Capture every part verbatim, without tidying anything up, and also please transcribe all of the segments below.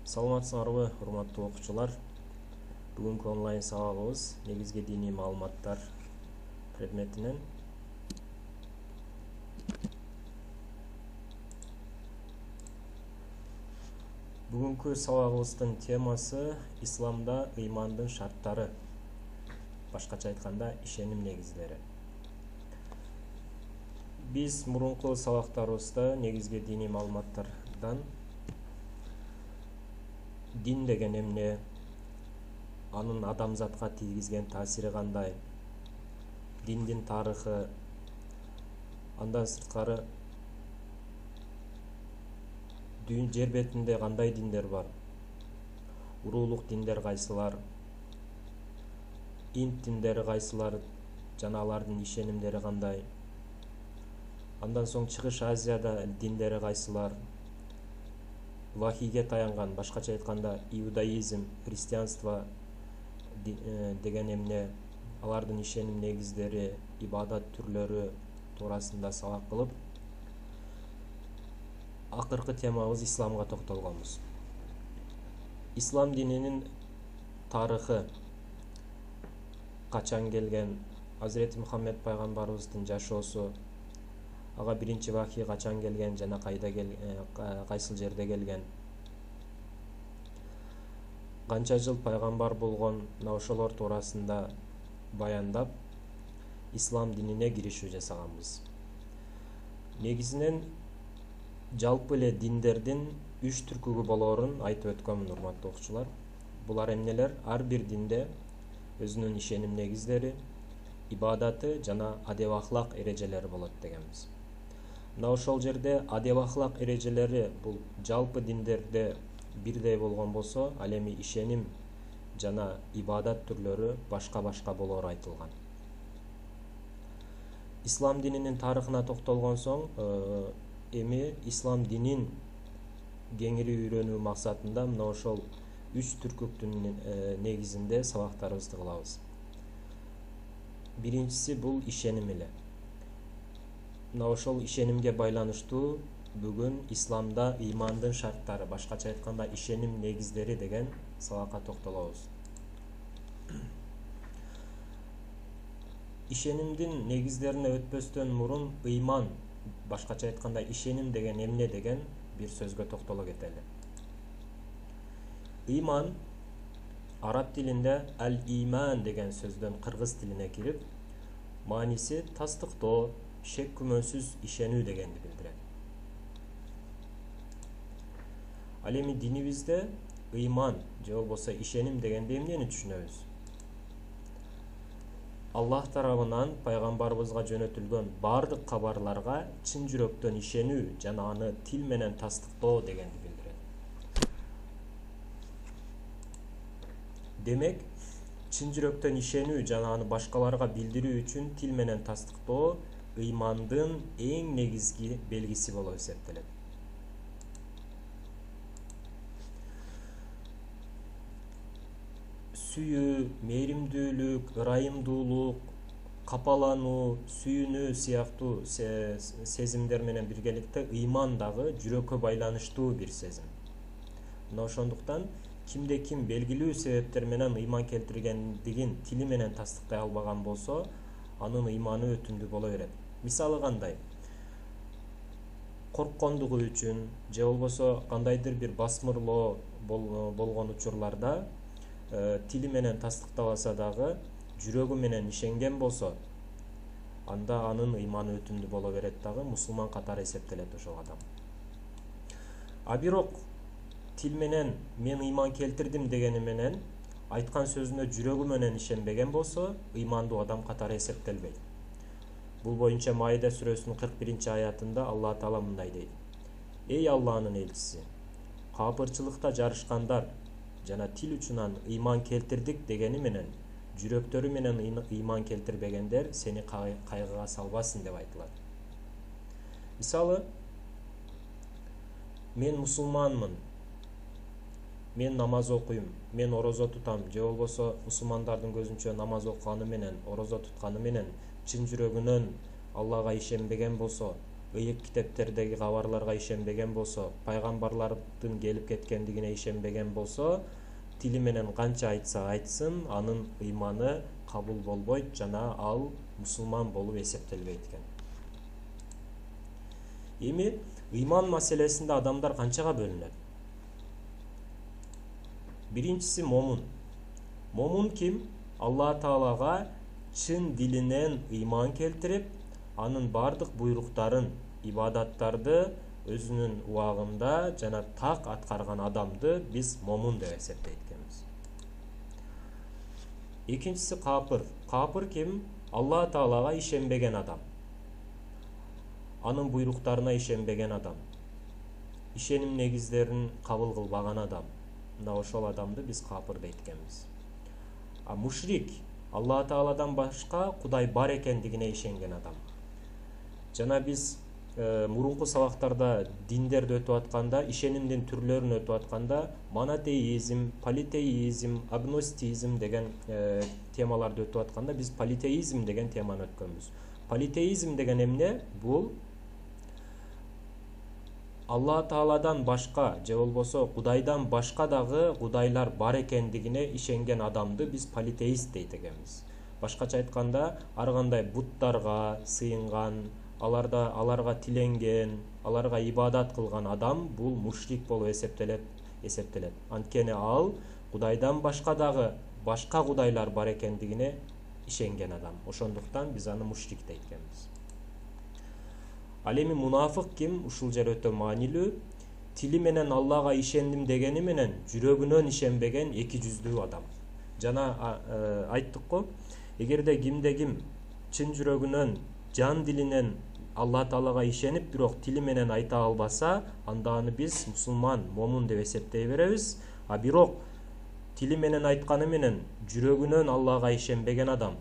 Саламатсыңарбы, урматтуу окуучулар. Бүгүнкү онлайн сабагыбыз негизги диний маалыматтар предметинен Бүгүнкү сабагыбыздын темасы исламда ыймандын шарттары, башкача айтканда ишеним негиздери. Биз мурунку сабактарыбызда негизги диний маалыматтардан дин деген эмне, анын адамзатка тийгизген таасири кандай, диндин тарыхы, андан сырткары жер бетинде кандай диндер бар, уруулук диндер кайсылар, инт диндери кайсылар жана алардын ишенимдери кандай, андан соң Чыгыш Азияда диндери кайсылар, вахийге таянган, башкача айтканда иудаизм, христианство деген эмне, алардын ишеним негиздери, ибадат түрлөрү туурасында сабак кылып, акыркы темабыз исламга токтолгонбуз. Ислам дининин тарыхы качан келген, Азирети Мухаммед пайгамбарыбыздын жашоосу, ага биринчи вахий качан келген жана кайда кайсыл жерде келген, канча жыл пайгамбар болгон, мына ошолор туурасында баяндап, ислам динине киришүү жасаганбыз. Негизинен жалпы эле диндердин үч түркүгү болоорун айтып өткөнмүн, урматтуу окуучулар. Булар эмнелер? Ар бир динде өзүнүн ишеним негиздери, ибадаты жана адеп ахлак эрежелери болот дегенбиз. Мына ошол жерде адеп ахлак эрежелери бул жалпы диндерде бирдей болгон болсо, ал эми ишеним жана ибадат түрлөрү башка-башка болоору айтылган. Ислам дининин тарыхына токтолгон соң, эми ислам динин кеңири үйрөнүү максатында мына ошол үч түркүктүн негизинде сабактарыбызды кылабыз. Биринчиси бул ишеним эле. Мына ошол ишенимге байланыштуу бүгүн исламда ыймандын шарттары, башкача айтканда ишеним негиздери деген сабакка токтолобуз. Ишенимдин негиздерине өтпөстөн мурун ыйман, башкача айтканда ишеним деген эмне деген бир сөзгө токтоло кетели. Ыйман араб тилинде ал-иман деген сөздөн кыргыз тилине кирип, мааниси тастыктоо, шек күмөнсүз ишенүү дегенди билдирет. Ал эми динибизде ыйман же болбосо ишеним дегенде эмнени түшүнөбүз? Аллах тарабынан пайгамбарыбызга жөнөтүлгөн бардык кабарларга чын жүрөктөн ишенүү жана аны тил менен тастыктоо дегенди билдирет. Демек, чын жүрөктөн ишенүү жана аны башкаларга билдирүү үчүн тил менен тастыктоо ыймандын эң негизги белгиси болуп эсептелет. Сүйүү, мээримдүүлүк, ырайымдуулук, капалануу, сүйүнүү сыяктуу сезимдер менен биргеликте ыйман дагы жүрөккө байланыштуу бир сезим. Мына ошондуктан кимде ким белгилүү себептер менен ыйман келтиргендигин тили менен тастыктай албаган болсо, анын ыйманы өтүмдүү боло берет. Мисалы кандай? Корккондугу үчүн же болбосо кандайдыр бир басмырлоо болгон учурларда тили менен тастыктабаса дагы жүрөгү менен ишенген болсо, анда анын ыйманы өтүмдүү боло берет дагы, мусулман катары эсептелет ошол адам. А бирок тил менен мен ыйман келтирдим дегени менен айткан сөзүнө жүрөгү менен ишенбеген болсо, ыймандуу адам катары эсептелбейт. Бул боюнча Маида сүрөсүнүн кырк биринчи аятында Алла Таала мындай дейт: Эй Алланын элчиси, капырчылыкта жарышкандар жана тил учунан ыйман келтирдик дегени менен жүрөктөрү менен ыйман келтирбегендер сени кайгыга салбасын деп айтылат. Мисалы, мен мусулманмын, мен намаз окуйм, мен орозо тутам, же болбосо мусулмандардын көзүнчө намаз окуганы менен, орозо тутканы менен чын жүрөгүнөн Аллага ишенбеген болсо, ыйык китептердеги кабарларга ишенбеген болсо, пайгамбарлардын келип кеткендигине ишенбеген болсо, тили менен канча айтса айтсын, анын ыйманы кабыл болбойт жана ал мусулман болуп эсептелбейт экен. Эми ыйман маселесинде адамдар канчага бөлүнөт? Биринчиси момун. Момун ким? Алла Таалага чын дилинен ыйман келтирип, анын бардык буйруктарын, ибадаттарды өзүнүн убагында жана так аткарган адамды биз момун деп эсептейт экенбиз. Экинчиси капыр. Капыр ким? Алла Таалага ишенбеген адам. Анын буйруктарына ишенбеген адам. Ишеним негиздерин кабыл кылбаган адам. Мына ошол адамды биз капыр дейт экенбиз. А мушрик Алла Тааладан башка Кудай бар экендигине ишенген адам. Жана биз э, мурунку сабактарда диндерди өтүп атканда, ишенимдин түрлөрүн өтүп атканда монотеизм, политеизм, агностизм деген э, темаларды өтүп атканда биз политеизм деген теманы өткөнбүз. Политеизм деген эмне? Бул Алла Тааладан башка же болбосо Кудайдан башка дагы кудайлар бар экендигине ишенген адамды биз политеист дейт экенбиз. Башкача айтканда, ар кандай буттарга сыйынган, аларда аларга тиленген, аларга ибадат кылган адам бул мушрик болуп эсептелет, эсептелет. Анткени ал Кудайдан башка дагы башка кудайлар бар экендигине ишенген адам. Ошондуктан биз аны мушрик дейт экенбиз. Ал эми мунафык ким? Ушул жер өтө маанилүү. Тили менен Аллага ишендим дегени менен жүрөгүнөн ишенбеген эки жүздүү адам. Жана э, айттык го, эгерде кимде ким чын жүрөгүнөн, жан дилинен Алла Таалага ишенип, бирок тили менен айта албаса, анда аны биз мусулман, момун деп эсептей беребиз. А бирок тили менен айтканы менен жүрөгүнөн Аллага ишенбеген адам,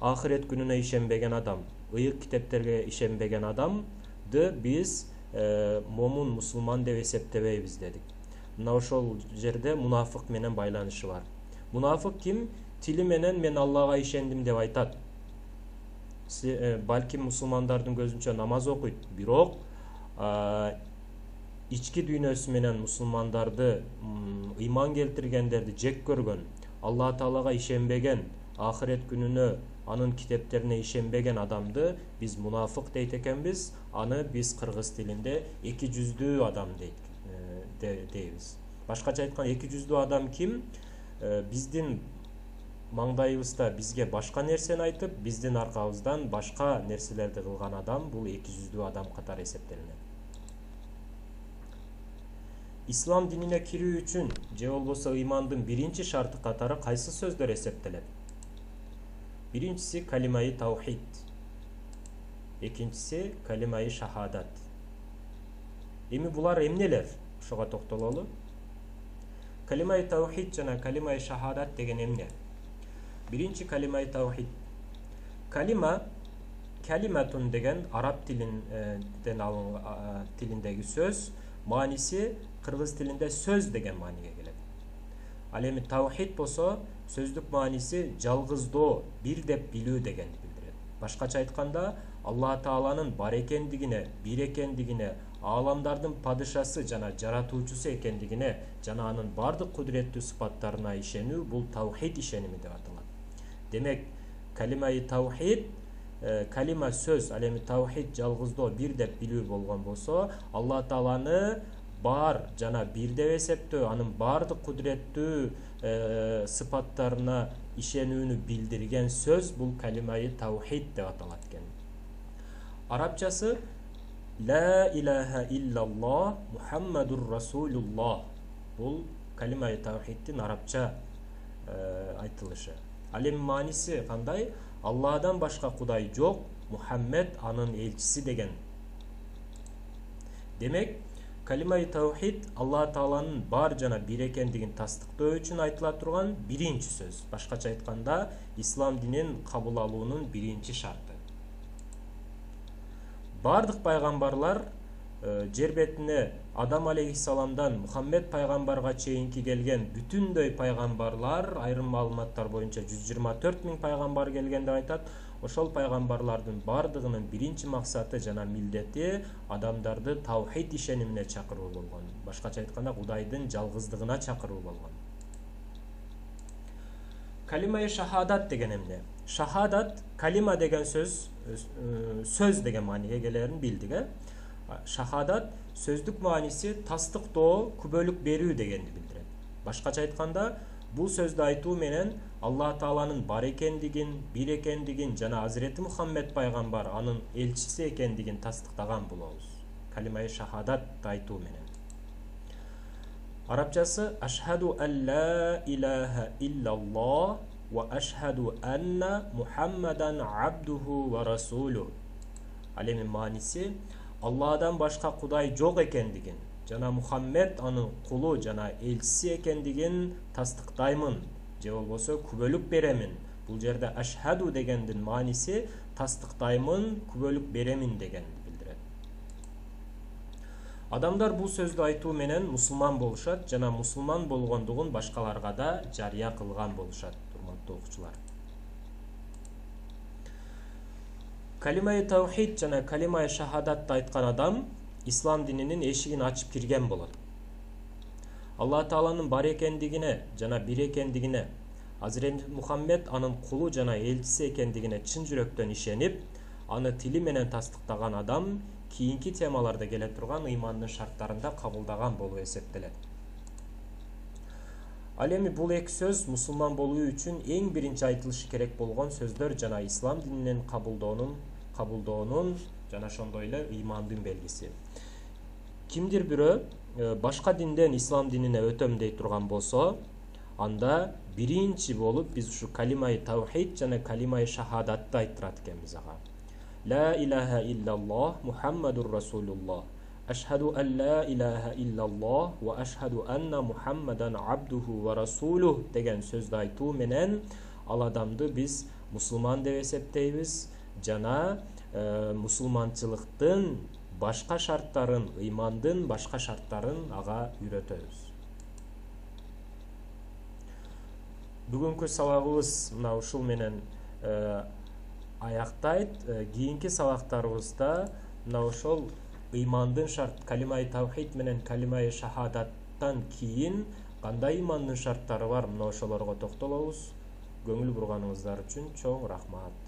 ахирет күнүнө ишенбеген адам, ыйык китептерге ишенбеген адамды биз э, момун мусулман деп эсептебейбиз дедик. Мына ошол жерде мунафык менен байланышы бар. Мунафык ким? Тили менен мен Аллага ишендим деп айтат. Э, балким мусулмандардын көзүнчө намаз окуйт, бирок э, ички дүйнөсү менен мусулмандарды, ыйман келтиргендерди жек көргөн, Алла Таалага ишенбеген, ахирет күнүнө, анын китептерине ишенбеген адамды биз мунафык дейт экенбиз. Аны биз кыргыз тилинде эки жүздүү адам дейт, э, дейбиз. Башкача айтканда, эки жүздүү адам ким? Э, биздин маңдайыбызда бизге башка нерсени айтып, биздин аркабыздан башка нерселерди кылган адам бул эки жүздүү адам катары эсептелинет. Ислам динине кирүү үчүн же болбосо ыймандын биринчи шарты катары кайсы сөздөр эсептелет? Биринчиси калимаи таухид, экинчиси калимаи шахадат. Эми булар эмнелер? Ошого токтололу. Калимаи таухид жана калимаи шахадат деген эмне? Биринчи калимаи таухид. Калима, калиматун деген араб тилинден алынган тилиндеги сөз, мааниси кыргыз тилинде сөз деген мааниге келет. Ал эми таухид болсо сөздүк мааниси жалгыздоо, бир деп билүү дегенди билдирет. Башкача айтканда, Алла Тааланын бар экендигине, бир экендигине, ааламдардын падышасы жана жаратуучусу экендигине жана анын бардык кудуреттүү сыпаттарына ишенүү бул таухид ишеними деп аталат. Демек, калимаи таухид, э, калима сөз, ал эми таухид жалгыздоо, бир деп билүү болгон болсо, Алла Тааланы бар жана бир деп эсептөө, анын бардык кудуреттүү э, сыпаттарына ишенүүнү билдирген сөз бул калимаи таухид деп аталат экен. Арабчасы ла илаха иллаллах Мухаммадур Расулуллах. Бул калимаи таухиддин арабча э, айтылышы. Ал эми мааниси кандай? Алладан башка кудай жок, Мухаммед анын элчиси деген. Демек, калимаи таухид Алла Тааланын бар жана бир экендигин тастыктоо үчүн айтыла турган биринчи сөз. Башкача айтканда, ислам динин кабыл алуунун биринчи шарты. Бардык пайгамбарлар э, жер бетине Адам алейхиссаламдан Мухаммед пайгамбарга чейинки келген бүтүндөй пайгамбарлар, айрым маалыматтар боюнча жүз жыйырма төрт миң пайгамбар келген деп айтат. ошол пайгамбарлардын бардыгынын биринчи максаты жана милдети адамдарды таухид ишенимине чакыруу болгон. Башкача айтканда Кудайдын жалгыздыгына чакыруу болгон. Калимаи шахадат деген эмне? Шахадат, калима деген сөз, сөз деген мааниге келерин билдик, э? Шахадат сөздүк мааниси тастыктоо, күбөлүк берүү дегенди билдирет. Башкача айтканда, бул сөздү айтуу менен Алла Тааланын бар экендигин, бир экендигин жана Азирети Мухаммед пайгамбар анын элчиси экендигин тастыктаган болобуз. Калимаи шахадат айтуу менен. Арабчасы ашхаду алла илаха иллаллах ва ашхаду анна Мухаммадан абдуху ва расулу. Ал эми мааниси Алладан башка Кудай жок экендигин жана Мухаммед анын кулу жана элчиси экендигин тастыктаймын, же болбосо күбөлүк беремин. Бул жерде ашхаду дегендин мааниси тастыктаймын, күбөлүк беремин деген билдирет. Адамдар бул сөздү айтуу менен мусулман болушат жана мусулман болгондугун башкаларга да жарыя кылган болушат, урматтуу окуучулар. Калимаи таухид жана калимаи шахадатты айткан адам ислам дининин эшигин ачып кирген болот. Алла Тааланын бар экендигине жана бир экендигине, Азирети Мухаммед анын кулу жана элчиси экендигине чын жүрөктөн ишенип, аны тили менен тастыктаган адам кийинки темаларда келе турган ыймандын шарттарында кабылдаган болуп эсептелет. Ал эми бул эки сөз мусулман болуу үчүн эң биринчи айтылышы керек болгон сөздөр жана ислам дининин кабылдоонун кабылдоонун жана ошондой эле ыймандын белгиси. Кимдир бирөө башка динден ислам динине өтөм дей турган болсо, анда биринчи болуп биз ушу калимаи таухид жана калимаи шахадатты айттырат экенбиз ага. Ла илаха иллаллах Мухаммадур расулуллах. Ашхаду ан ла илаха иллаллах ва ашхаду анна Мухаммадан абдуху ва расулух деген сөздү айтуу менен ал адамды биз мусулман деп эсептейбиз жана э, мусулманчылыктын башка шарттарын, ыймандын башка шарттарын ага үйрөтөбүз. Бүгүнкү сабагыбыз мына ушул менен э, аяктайт. Э, кийинки сабактарыбызда мына ошол ыймандын шарт, калимаи таухид менен калимаи шахадаттан кийин кандай ыймандын шарттары бар, мына ошолорго токтолобуз. Көңүл бурганыңыздар үчүн чоң рахмат.